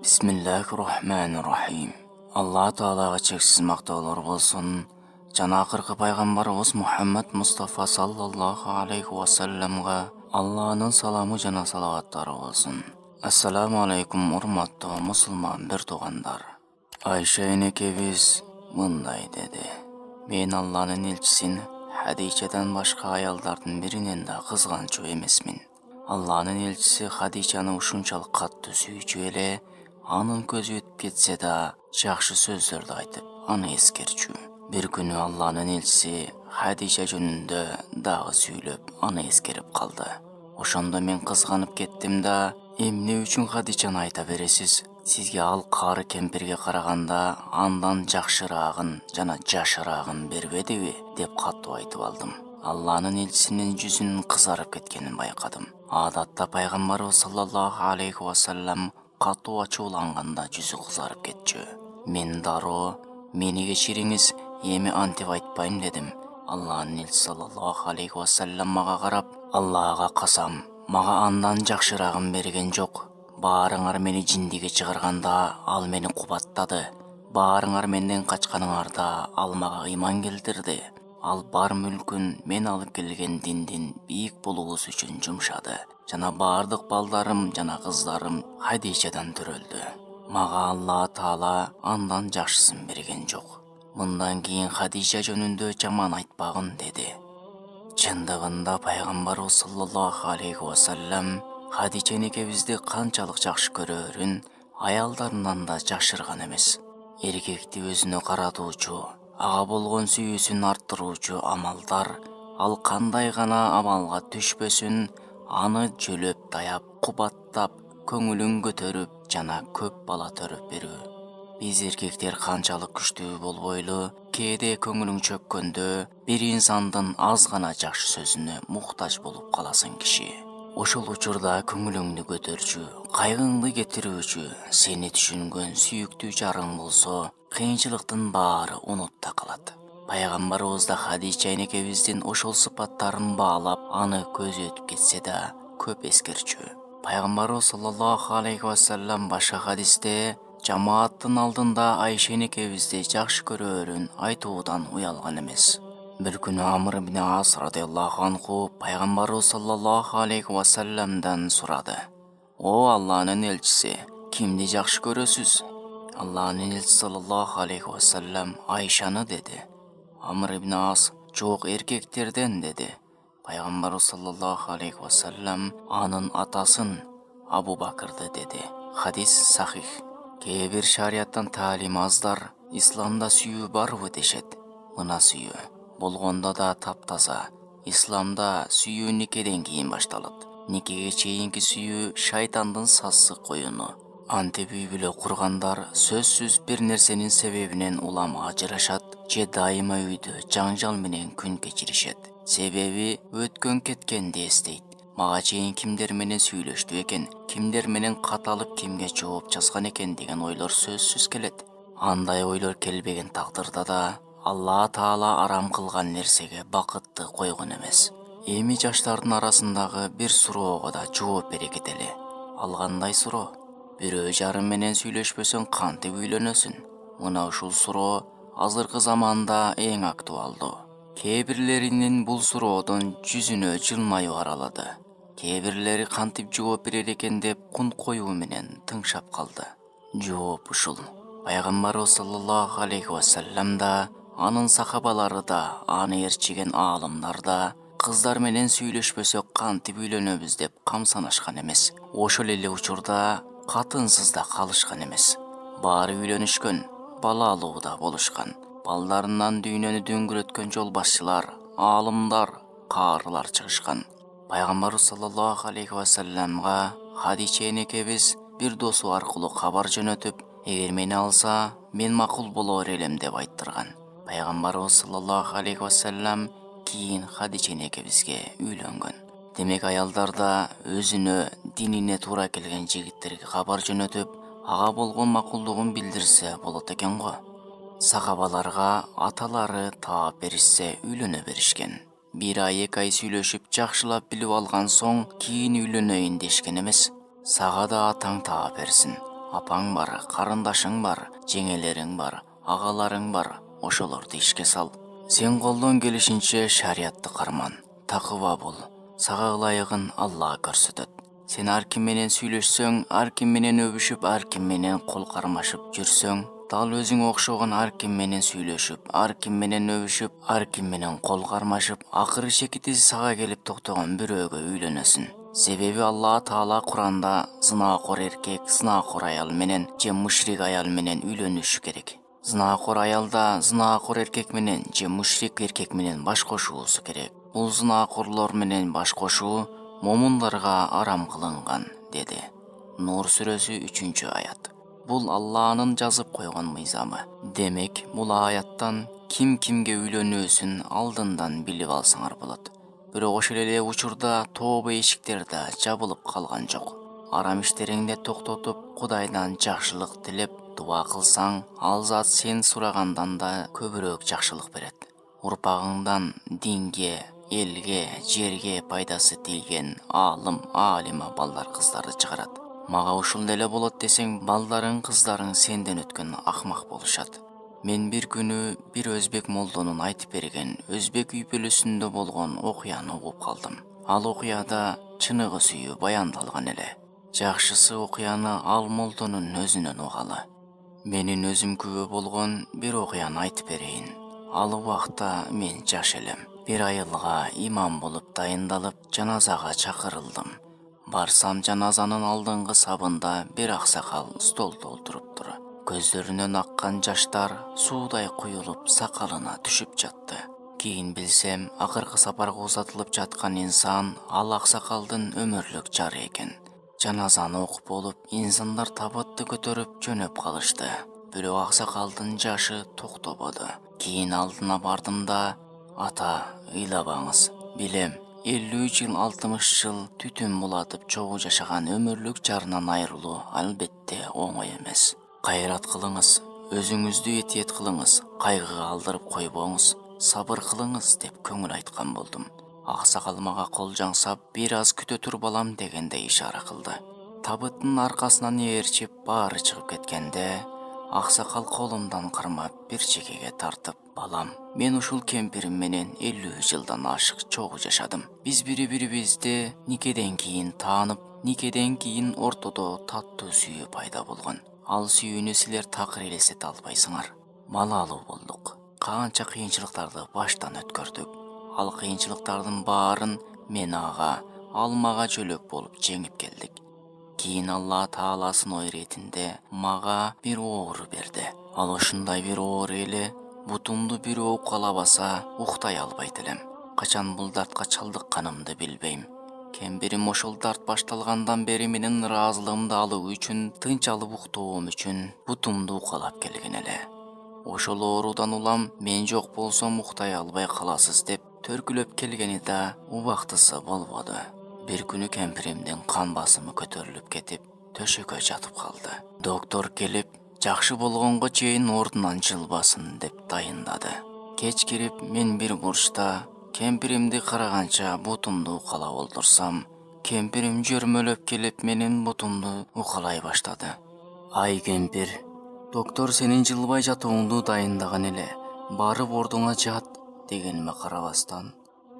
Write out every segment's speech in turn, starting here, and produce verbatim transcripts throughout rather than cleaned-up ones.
Бисмиллахир-рахманир-рахим. Алла Таалага чексиз мактоолор болсун. Жана акыркы пайгамбарыбыз Мухаммад Мустафа саллаллаху алейхи ва салламга Алланын саламы жана салаваттары болсун. Ассаламу алейкум урматтуу мусулман бир туугандар. Айша энекебиз мындай деди: Мен Алланын элчисин Хадичадан башка аялдардын биринен да кызганчу эмесмин. Алланын элчиси Хадичаны ушунчалык катты сүйчү эле, анын көзү өтүп кетсе да жакшы сөздөрдү айтып, аны эскерчү. Бир күнү Алланын элчиси Хадича жөнүндө дагы сүйлөп, аны эскерип калды. Ошондо мен кызганып кеттим да: эмне үчүн Хадичаны айта бересиз? Сизге ал кары кемпирге караганда андан жакшыраагын жана жашыраагын бербедиби? Деп катуу айтып алдым. Алланын элчисинин жүзүнүн кызарып кеткенин байкадым. Адатта пайгамбарыбыз саллаллаху алейхи ва саллам катуу ачууланганда жүзү кызарып кетчү. Мен дароо: мени кечириңиз, эми антип айтпайм дедим. Алланын элчиси саллаллаху алейхи ва саллам мага карап: Аллага касам, мага андан жакшыраагын берген жок. Баарыңар мени жиндиге чыгарганда ал мени кубаттады. Баарыңар менден качканыңарда ал мага ыйман келтирди. Ал бар мүлкүн мен алып келген диндин бийик болуубуз үчүн жумшады. Жана бардык балдарым жана кыздарым Хадичадан төрөлдү. Мага Алла Таала андан жакшысын берген жок. Мындан кийин Хадича жөнүндө жаман айтпагын деди. Чындыгында пайгамбарыбыз саллаллаху алейхи ва саллам Хадича энекебизди канчалык жакшы көрөрүн аялдарынан да жашырган эмес. Эркекти өзүнө каратуучу, ага болгон сүйүүсүн арттыруучу амалдар, ал кандай гана амалга түшпөсүн, аны жөлөп таяп, кубаттап, көңүлүн көтөрүп жана көп бала төрөп берүү. Биз эркектер канчалык күчтүү болбойлу, кээде көңүлүң чөккөндө бир инсандын аз гана жакшы сөзүнө муктаж болуп каласың киши. Ошол учурда көңүлүңдү көтөрчү, кайгыңды кетирүүчү, сени түшүнгөн сүйүктүү жарың болсо, кыйынчылыктын баары унутта калат. Пайгамбарыбыз да Хадича энекебиздин ошол сыпаттарын баалап, аны көзү өтүп кетсе да көп эскерчү. Пайгамбарыбыз саллаллаху алейхи ва саллам башка хадисте жамааттын алдында Айша энекебизди жакшы көрөөрүн айтуудан уялган эмес. Бир күнү Амр ибн Ас радыйаллаху анху пайгамбарыбыз саллаллаху алейхи ва салламдан сурады: О Алланын элчиси, кимди жакшы көрөсүз? Алланын элчиси саллаллаху алейхи ва саллам Айшаны деди. Амр ибн Ас: жок, эркектерден деди. Пайгамбарыбыз саллаллаху алейхи ва саллам анын атасын Абу Бакырды деди. Хадис сахих. Кээ бир шарияттан таалим аздар исламда сүйүү барбы дешет. Мына сүйүү болгондо да таптаза. Исламда сүйүү никеден кийин башталат. Никеге чейинки сүйүү шайтандын сасык коюну. Антип үй бүлө кургандар сөзсүз бир нерсенин себебинен улам ажырашат же дайыма үйдө жаңжал менен күн кечиришет. Себеби өткөн кеткенди эстейт. Мага чейин кимдер менен сүйлөштү экен, кимдер менен кат алып кимге жооп жазган экен деген ойлор сөзсүз келет. Андай ойлор келбеген тагдырда да Алла Таала арам кылган нерсеге бакытты койгон эмес. Эми жаштардын арасындагы бир суроого да жооп бере кетели. Ал кандай суроо? Бирөө жарым менен сүйлөшпөсөң кантип үйлөнөсүн? Мына ушул суроо азыркы заманда эң актуалдуу. Кээ бирлеринин бул суроодон жүзүнө жылмаюу аралады. Кээ бирлери кантип жооп берер экен деп кун коюу менен тыңшап калды. Жооп ушул: пайгамбарыбыз саллаллаху алейхи ва саллам да, анын сахабалары да, аны ээрчиген аалымдар да кыздар менен сүйлөшпөсөк кантип үйлөнөбүз деп камсанышкан эмес. Ошол эле учурда катынсыз да калышкан эмес. Баары үйлөнүшкөн, балалуу да болушкан. Балдарынан дүйнөнү дөңгөрөткөн жол башчылар, аалымдар, каарылар чыгышкан. Пайгамбарыбыз саллаллаху алейхи ва салламга Хадича энекебиз бир досу аркылуу кабар жөнөтүп, эгер мени алса, мен макул болор элем деп айттырган. Пайгамбарыбыз саллаллаху алейхи ва саллам кийин Хадича энекебизге үйлөнгөн. Демек аялдар да өзүнө динине туура келген жигиттерге кабар жөнөтүп, ага болгон макулдугун билдирсе болот экен го. Сахабаларга аталары таап беришсе үйлөнө беришкен. Бир ай эки ай сүйлөшүп жакшылап билип алган соң кийин үйлөнөйүн дешкен эмес. Сага да атаң таап берсин, Апаң бар, карындашың бар, жеңелериң бар, агаларың бар, ошолорду ишке сал. Сен колдон келишинче шариятты карман, такыба бол. Сага ылайыгын Алла көрсөтөт. Сен ар ким менен сүйлөшсөң, ар ким менен өбүшүп, ар ким менен кол кармашып жүрсөң, дал өзүңө окшогон ар ким менен сүйлөшүп, ар ким менен өбүшүп, ар ким менен кол кармашып, акыры шекити сага келип токтогон бирөөгө үйлөнөсүн. Себеби Алла Таала Куранда зынакор эркек зынакор аял менен же мушрик аял менен үйлөнүшү керек. Зынакор аялда зынакор эркек менен же мушрик эркек менен баш кошуусу керек. Бул зынакорлор менен баш кошуу момундарга арам кылынган, деди. Нур сүрөсү үчүнчү аят. Бул Алланын жазып койгон мыйзамы. Демек, бул аяттан ким кимге үйлөнүүсүн алдындан билип алсаңар болот. Бирок ошол эле учурда тооба эшиктер да жабылып калган жок. Арам иштериңди токтотуп, Кудайдан жакшылык тилеп дуа кылсаң, ал зат сен сурагандан да көбүрөөк жакшылык берет. Урпагыңдан динге, элге, жерге пайдасы тийген аалым, аалима балдар кыздарды чыгарат. Мага ушул деле болот десең, балдарың, кыздарың сенден өткөн акмак болушат. Мен бир күнү бир өзбек молдонун айтып берген өзбек үй бүлөсүндө болгон окуяны угуп калдым. Ал окуяда чыныгы сүйүү баяндалган эле. Жакшысы окуяны ал молдонун өзүнөн угалы. Менин өзүм күбө болгон бир окуяны айтып берейин. Ал убакта мен жаш элем. Бир айылга имам болуп дайындалып, жаназага чакырылдым. Барсам, жаназанын алдыңкы сабында бир аксакал столдо отуруптур. Көздөрүнөн аккан жаштар суудай куюлуп сакалына түшүп жатты. Кийин билсем, акыркы сапарга узатылып жаткан инсан ал аксакалдын өмүрлүк жары экен. Жаназаны окуп болуп, инсандар табытты көтөрүп жөнөп калышты. Бирок аксакалдын жашы токтободу. Кийин алдына бардым да: "Ата, ыйлабаңыз. Билем, элүү жыл, алтымыш жыл түтүн булатып чогуу жашаган өмүрлүк жарынан айрылуу албетте оңой эмес. Кайрат кылыңыз, өзүңүздү этиет кылыңыз, кайгыга алдырып койбоңуз, сабыр кылыңыз" деп көңүл айткан болдум. Аксакал мага кол жаңсап, бир аз күтө тур балам дегендей ишара кылды. Табыттын аркасынан ээрчип баары чыгып кеткенде, аксакал колумдан кармап бир чекеге тартып: "Балам, мен ушул кемпирим менен элүү жылдан ашык чогуу жашадым. Биз бири-бирибизди никеден кийин таанып, никеден кийин ортодо таттуу сүйүү пайда болгон. Ал сүйүүнү силер такыр элестете албайсыңар. Балалуу болдук. Канча кыйынчылыктарды баштан өткөрдүк. Ал кыйынчылыктардын баарын мен ага, ал мага жөлөк болуп жеңип келдик. Кийин Алла Тааласынын ой иретинде мага бир оору берди. Ал ушундай бир оору эле, бутумду бирөө укалабаса уктай албайт элем. Качан бул дартка чалдыкканымды билбейм. Кемпирим ошол дарт башталгандан бери менин ыраазылыгымды алуу үчүн, тынч алып уктоом үчүн бутумду укалап келген эле. Ошол оорудан улам мен жок болсом уктай албай каласыз деп төркүлөп келгени да убактысы болбоду. Бир күнү кемпиримдин кан басымы көтөрүлүп кетип, төшөккө жатып калды. Доктор келип, жакшы болгонго чейин ордунан жылбасын деп дайындады. Кеч кирип, мен бир бурчта кемпиримди караганча бутумду укалап олтурсам, кемпирим жөрмөлөп келип менин бутумду укалай баштады. "Ай кемпир, доктор сенин жылбай жатууңду дайындаган эле. Барып ордуңа жат" дегениме карабастан: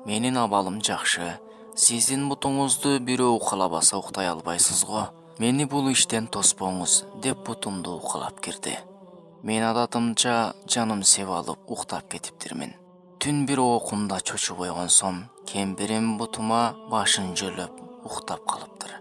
"Менин абалым жакшы. Сиздин бутуңузду бирөө укалабаса уктай албайсыз го. Мени бул иштен тоспоңуз" деп бутумду укалап кирди. Мен адатымча жаным сеп алып уктап кетиптирмин. Түн бир окумда чочуп ойгонсом, кемпирим бутума башын жөлөп уктап калыптыр.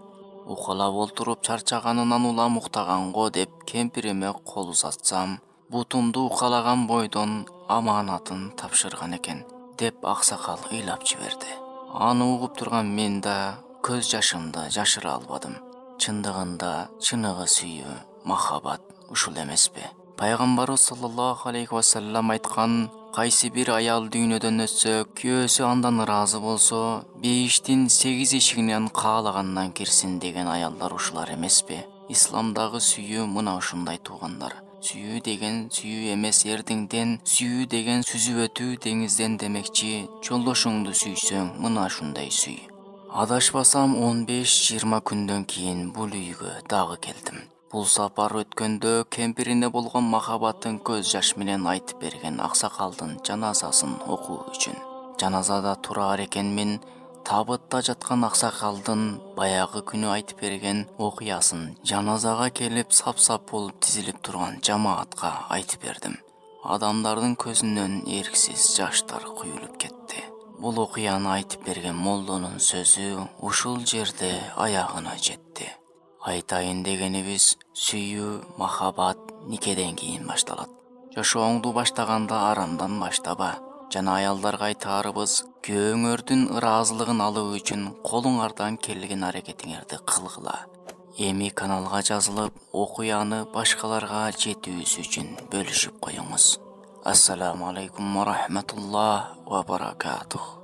Укалап олтуруп чарчаганынан улам уктаганго деп кемпириме кол узатсам, бутумду укалаган бойдон аманатын тапшырган экен деп аксакал ыйлап жиберди. Аны угуп турган мен да көз жашымды жашыра албадым. Чындыгында чыныгы сүйүү, махаббат ушул эмеспи? Пайгамбарыбыз саллаллаху алейхи вассалам айткан: "Кайсы бир аял дүйнөдөн өтсө, күйөөсү андан ыраазы болсо, бейиштин сегиз эшигинен каалагандан кирсин" деген аялдар ушулар эмеспи? Исламдагы сүйүү мына ушундай туугандар. Сүйүү деген сүйүү эмес эрдиңден, сүйүү деген сүзүп өтүү деңизден демекчи. Жолдошуңду сүйсөң, мына ушундай сүй. Адашпасам он беш жыйырма күндөн кийин бул үйгө дагы келдим. Бул сапар өткөндө кемпирине болгон махабатын көз жаш менен айтып берген аксакалдын жаназасын окуу үчүн. Жаназада турар экенмин, табытта жаткан аксакалдын баягы күнү айтып берген окуясын жаназага келип сап-сап болуп тизилип турган жамаатка айтып бердим. Адамдардын көзүнөн эрксиз жаштар куюлуп кетти. Бул окуяны айтып берген молдонун сөзү ушул жерде аягына жетти. Айтайын дегенибиз, сүйүү, махаббат никеден кийин башталат. Жашооңду баштаганда арамдан баштаба. Жана аялдарга айтаарыбыз, күйөөңөрдүн ыраазылыгын алуу үчүн колуңардан келген аракетиңерди кылгыла. Эми каналга жазылып, окуяны башкаларга жетүүсү үчүн бөлүшүп коюңуз. Ассаламу алейкум ва рахматуллах ва баракатух.